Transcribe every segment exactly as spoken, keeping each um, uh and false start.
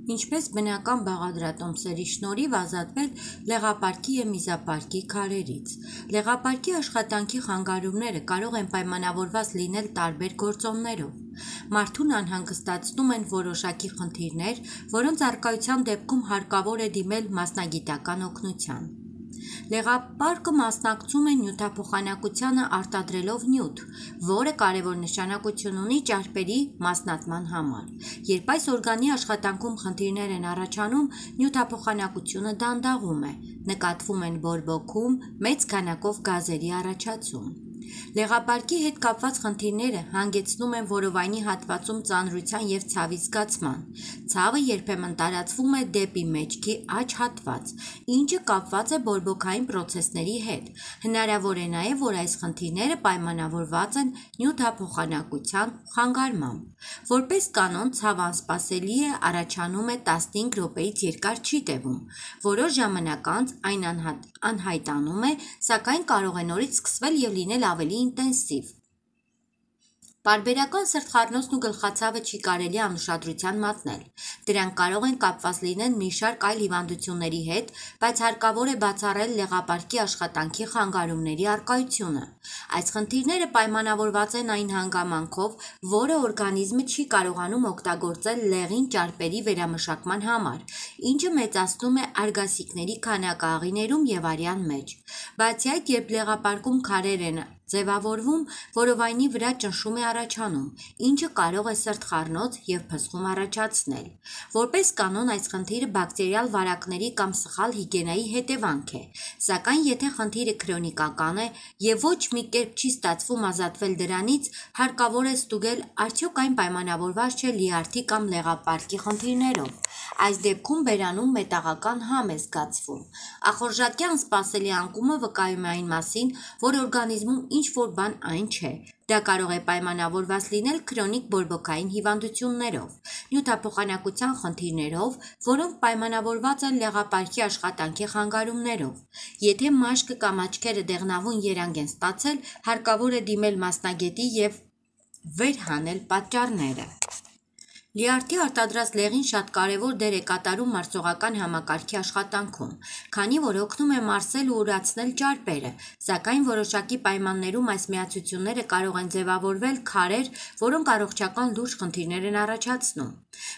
Ինչպես բնական բաղադրատոմսերի շնորհիվ ազատվել լեղապարկի և միզապարկի քարերից։ Լեղապարկի աշխատանքի խանգարումները կարող են պայմանավորված լինել տարբեր գործոններով։ Մարդուն անհանգստացնում են որոշակի խնդիրներ, որոնց առկայության դեպքում հարկավոր է դիմել մասնագիտական օգնության։ Լեղապարկը մասնակցում է նյութափոխանակությանը արտադրելով նյութ, որը կարևոր նշանակություն ունի ճարպերի մասնատման համար։ Երբ այս օրգանի աշխատանքում խնդիրներ են առաջանում, նյութափոխանակությունը դանդաղում է, նկատվում են բորբոքում, մեծ քանակով գազերի առաջացում։ Լեղապարկի հետ կապված խնդիրները հանգեցնում են որովայնի հատվածում ծանրության և ցավի զգացման։ Ցավը երբեմն տարածվում է դեպի մեջքի աջ հատված, ինչը կապված է բորբոքային պրոցեսների հետ։ Հնարավոր է նաև, որ այս խնդիրները պայմանավորված են նյութափոխանակության խանգարմամբ։ Որպես կանոն, ցավը անսպասելի է առաջանում է տասնհինգ րոպեից երկար չի տևում։ Որոշ ժամանակ անց այն անհայտանում է, սակայն կարող է նորից սկսվել և լինել ավելի ինտենսիվ։ Պարբերական սրտխառնոցն ու գլխացավը չի կարելի անուշադրության մատնել։ Դրանք կարող են կապված լինել մի շարք այլ հիվանդությունների հետ, բայց հարկավոր է բացառել լեղապարկի աշխատանքի խանգարումների առկայությունը։ Այս խնդիրները պայմանավորված են այն հանգամանքով, որը օրգանիզմը չի կարողանում օգտագործել լեղին ճարպերի վերամշակման համար, ինչը մեծացնում է արգասիքների քանակը աղիներում և արյան մեջ։ Բացի այդ, երբ լեղապարկում քարեր են ձևավորվում, որովայնի վրա ճնշում է առաջանում, ինչը կարող է սրտխառնոց և փսխում առաջացնել։ Որպես կանոն, այս խնդիրը բակտերիալ վարակների կամ սխալ հիգիենայի հետևանք է, սակայն եթե խնդիրը քրոնիկական է և ոչ մի կերպ չի ստացվում ազատվել դրանից, հարկավոր է ստուգել արդյոք այն պայմանավորված չէ լյարդի կամ լեղապարկի խնդիրներով։ Այս դեպքում բերանում մետաղական համ է զգացվում։ Ախորժակի անսպասելի անկումը վկայում է այն մասին, որ օրգանիզմում ինչ-որ բան այն չէ։ Դա կարող է պայմանավորված լինել քրոնիկ բորբոքային հիվանդություններով, նյութափոխանակության խնդիրներով, որոնք պայմանավորված են լեղապարկի աշխատանքի խանգարումներով։ Եթե մաշկը կամ աչքերը դեղնավուն երանգ են ստացել, հարկավոր է դիմել մասնագետի և վեր հանել պատճառները։ Լյարդի արտադրած լեղին շատ կարևոր դեր է կատարում մարսողական համակարգի աշխատանքում, քանի որ օգնում է մարսել ու ուրացնել ճարպերը, սակայն որոշակի պայմաններում այս միացությունները կարող են ձևավորվել քարեր, որոնք առողջական լուրջ խնդիրներ են առաջացնում։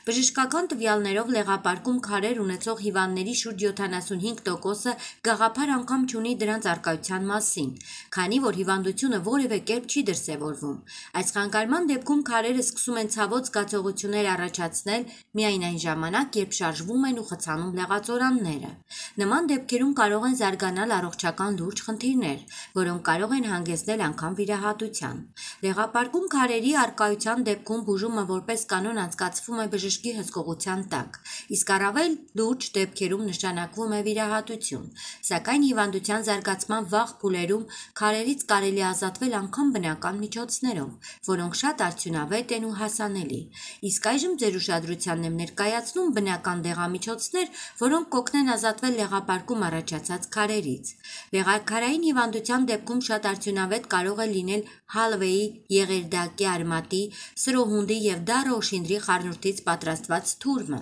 Բժշկական տվյալներով լեղապարկում քարեր ունեցող հիվանդների շուրջ յոթանասունհինգ տոկոսը գաղափար անգամ չունի դրանց առկայության մասին, քանի որ հիվանդությունը որևէ կերպ չի դրսևորվում։ Այս խանգարման դեպքում քարերը սկսում են ցավոտ զգացողություններ առաջացնել միայն այն ժամանակ, երբ շարժվում են ու խցանում լեղածորանները։ Նման դեպքերում կարող են զարգանալ առողջական լուրջ խնդիրներ, որոնք կարող են հանգեցնել անգամ վիրահատության։ Լեղապարկում քարերի առկայության դեպքում բուժումը որպես կանոն անցկացվում է բժշկի հսկողության տակ, իսկ առավել լուրջ դեպքերում նշանակվում է վիրահատություն։ Սակայն հիվանդության զարգացման վաղ փուլերում քարերից կարելի է ազատվել անգամ բնական միջոցներով, որոնք շատ արդյունավետ են ու հասանելի։ Իսկ այժմ ձեր ուշադրությանն եմ ներկայացնում բնական դեղամիջոցներ, որոնք կօգնեն ազատվել լեղապարկում առաջացած քարերից։ Լեղաքարային հիվանդության դեպքում շատ արդյունավետ կարող է լինել հալվեի, եղերդակի արմատի, սրոհունդի և դառը օշինդրի խառնուրդից պատրաստված թուրմը։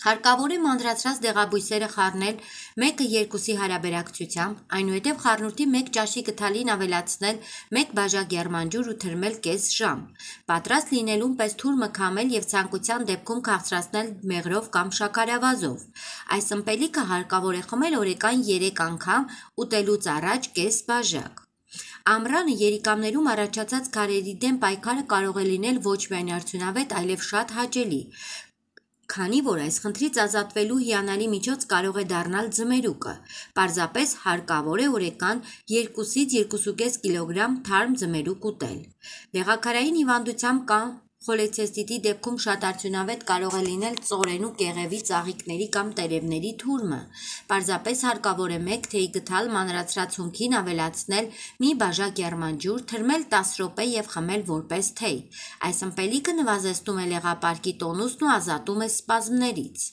Հարկավոր է մանրացրած դեղաբույսերը խառնել մեկը երկուսի հարաբերակցությամբ, այնուհետև խառնուրդի մեկ ճաշի գդալին ավելացնել մեկ բաժակ եռմանջուր ու թրմել կես ժամ։ Պատրաստ լինելուն պես թուրմը քամել և ցանկության դեպքում քաղցրացնել մեղրով կամ շաքարավազով։ Այս ըմպելիքը հարկավոր է խմել օրական երեք անգամ, ուտելուց առաջ կես բաժակ։ Ամռանը երիկամներում առաջացած քարերի դեմ պայքարը կարող է լինել ոչ միայն արդյունավետ, այլև շատ հաճելի, քանի որ այս խնդրից ազատվելու հիանալի միջոց կարող է դառնալ ձմերուկը։ Պարզապես հարկավոր է օրական երկուսից երկուսուկես կիլոգրամ թարմ ձմերուկ ուտել։ Լեղաքարային հիվանդությամբ կամ խոլեցեստիտի դեպքում շատ արդյունավետ կարող է լինել ծորենու կեղևի ծաղիկների կամ տերևների թուրմը։ Պարզապես հարկավոր է մեկ թեյ գդալ մանրացրած հումքին ավելացնել մի բաժակ եռմանջուր, թրմել տասը րոպե և խմել որպես թեյ։ Այս ըմպելիքը նվազեցնում է լեղապարկի տոնուսն ու ազատում է սպազմներից։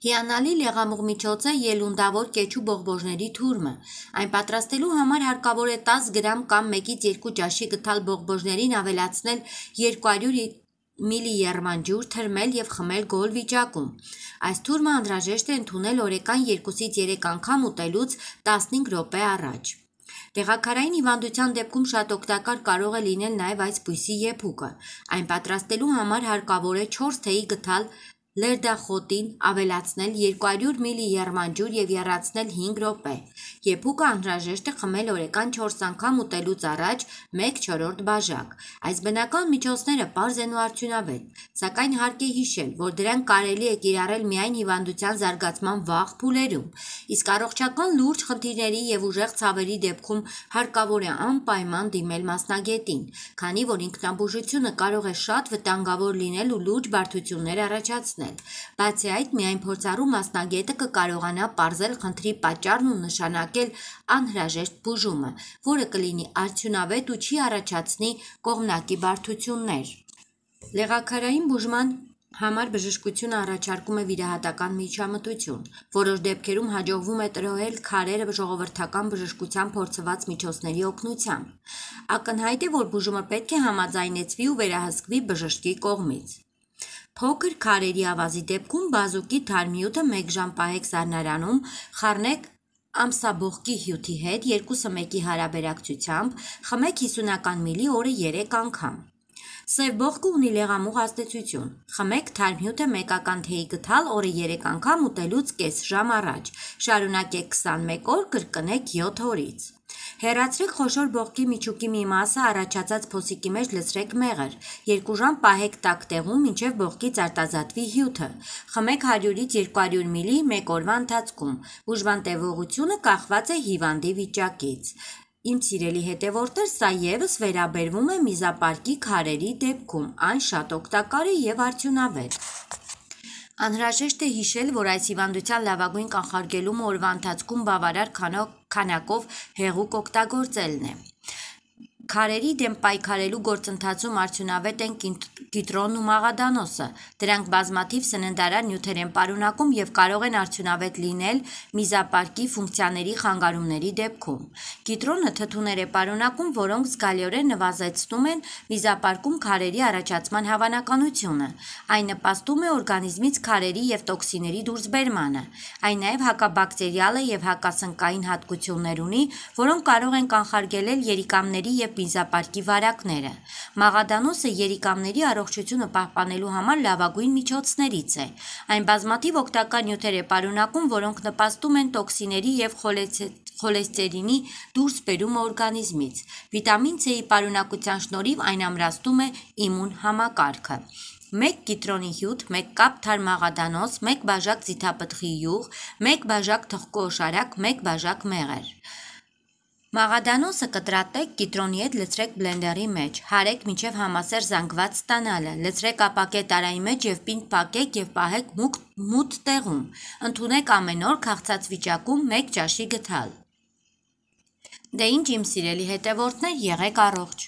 Հիանալի լեղամուղ միջոց է ելունդավոր կեչու բողբոժների թուրմը։ Այն պատրաստելու համար հարկավոր է տասը գրամ կամ մեկից երկու ճաշի գդալ բողբոժներին ավելացնել երկու հարյուր միլի եռմանջուր թրմել և խմել գոլ վիճակում։ Այս թուրմը անհրաժեշտ է ընդունել օրական երկուսից երեք անգամ ուտելուց տասնհինգ րոպե առաջ։ Լեղաքարային հիվանդության դեպքում շատ օգտակար կարող է լինել նաև այս բույսի եփուկը։ Այն պատրաստելու համար հարկավոր է չորս թեյի գթալ լերդախոտին ավելացնել երկու հարյուր միլի եռմանջուր և եռացնել հինգ րոպե։ Եփուկը անհրաժեշտ է խմել օրական չորս անգամ ուտելուց առաջ մեկ չորրորդ բաժակ։ Այս բնական միջոցները պարզ են ու արդյունավետ, սակայն հարկ է հիշել, որ դրանք կարելի է կիրառել միայն հիվանդության զարգացման վաղ փուլերում, իսկ առողջական լուրջ խնդիրների և ուժեղ ցավերի դեպքում հարկավոր է անպայման դիմել մասնագետին, քանի որ ինքնաբուժությունը կարող է շատ վտանգավոր լինել ու լուրջ բարդություններ առաջացնել։ Բացի այդ, միայն փորձառու մասնագետը կկարողանա պարզել խնդրի պատճառն ու նշանակել անհրաժեշտ բուժումը, որը կլինի արդյունավետ ու չի առաջացնի կողմնակի բարդություններ։ Լեղաքարային բուժման համար բժշկությունը առաջարկում է վիրահատական միջամտություն։ Որոշ դեպքերում հաջողվում է տրոհել քարերը ժողովրդական բժշկության փորձված միջոցների օգնությամբ։ Ակնհայտ է, որ բուժումը պետք է համաձայնեցվի ու վերահսկվի բժշկի կողմից։ Փոքր քարերի ավազի դեպքում բազուկի թարմիութը մեկ ժամ պահեք սառնարանում, խառնեք ամսաբողկի հյութի հետ երկուսը մեկի հարաբերակցությամբ, խմեք հիսունական միլի օրը երեք անգամ։ Սև բողկը ունի լեղամուղ ազդեցություն։ Խմեք թարմյութը մեկական թեյի գթալ օրը երեք անգամ ուտելուց կես ժամ առաջ։ Շարունակեք քսանմեկ օր, կրկնեք յոթ օրից։ Հեռացրեք խոշոր բողկի միջուկի մի մասը, առաջացած փոսիկի մեջ լցրեք մեղր։ Երկու ժամ պահեք տաք տեղում, մինչև բողկից արտազատվի հյութը։ Խմեք հարյուրից երկու հարյուր միլի մեկ օրվա ընթացքում։ Բուժման տևողությունը կախված է հիվանդի վիճակից։ Իմ սիրելի հետևորդներ, սա ևս վերաբերվում է միզապարկի քարերի դեպքում, այն շատ օգտակար է և արդյունավետ։ Անհրաժեշտ է հիշել, որ այս հիվանդության լավագույն կանխարգելումը օրվա ընթացքում բավարար քանակով հեղուկ օգտագործելն է։ Քարերի դեմ պայքարելու գործընթացում արդյունավետ են կիտրոնն ու մաղադանոսը։ Դրանք բազմաթիվ սննդարար նյութեր են պարունակում և կարող են արդյունավետ լինել միզապարկի ֆունկցիաների խանգարումների դեպքում։ Կիտրոնը թթուներ է պարունակում, որոնք զգալիորեն նվազեցնում են միզապարկում քարերի առաջացման հավանականությունը։ Այն նպաստում է օրգանիզմից քարերի և տոքսինների դուրսբերմանը։ Այն նաև հակաբակտերիալ է և հակասնկային հատկություններ ունի, որոնք կարող են կանխարգելել երիկամների և միզապարկի վարակները։ Մաղադանոսը երիկամների առողջությունը պահպանելու համար լավագույն միջոցներից է։ Այն բազմաթիվ օգտակար նյութեր է պարունակում, որոնք նպաստում են տոքսինների և խոլեստերինի դուրսբերումը օրգանիզմից։ Վիտամին C-ի պարունակության շնորհիվ այն ամրացնում է իմուն համակարգը։ մեկ կիտրոնի հյութ, մեկ կապ թարմ մաղադանոս, մեկ բաժակ ձիթապտղի յուղ, մեկ բաժակ թխկու օշարակ, մեկ բաժակ մեղր։ Մաղադանոսը կտրատեք, կիտրոնի հետ լցրեք բլենդերի մեջ, հարեք մինչև համասեր զանգված ստանալը, լցրեք ապակե տարայի մեջ և պինդ փակեք և պահեք մութ տեղում։ Ընդունեք ամեն օր քաղցած վիճակում մեկ ճաշի գթալ։ Դե ինչ իմ սիրելի հետևորդներ, եղեք առողջ։